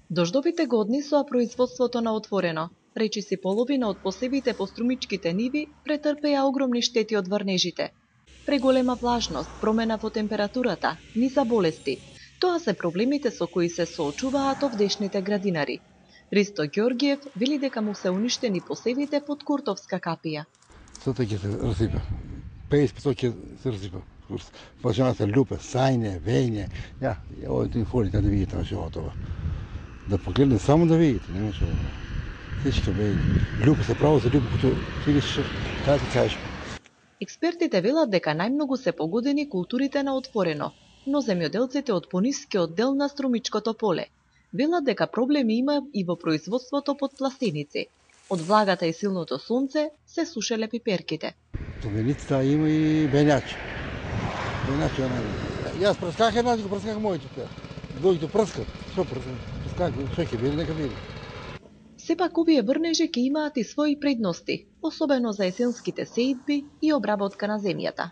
Дождовите го однесоа производството на отворено. Речиси половина од посевите по струмичките ниви претрпеа огромни штети од врнежите. Преголема влажност, промена во температурата, низа болести. Тоа се проблемите со кои се соочуваат овдешните градинари. Ристо Ѓоргиев вели дека му се уништени посевите под Куртовска капија. Сото ќе се расипа. 50% ќе се расипа. Влажаната лупе, сајне, вење. Ја, овој фолите да видите што тоа. Да погледне само да видите, нема што. Всички вење. Лупе се право за лупе, като видиш како ти кажеш. Експертите велат дека најмногу се погодени културите на отворено, но земјоделците од понискиот дел на струмичкото поле велат дека проблеми има и во производството под пластеници. Од влагата и силното сонце се сушеле пиперките. Товеницата има и бењачи. Бењачи Јас прсках една, го прсках моите пеа. Дојде до прскат. Што прскат? Прсках, што ќе биде, нека биде. Сепак овие врнежи ќе имаат и своји предности, особено за есенските сеидби и обработка на земјата.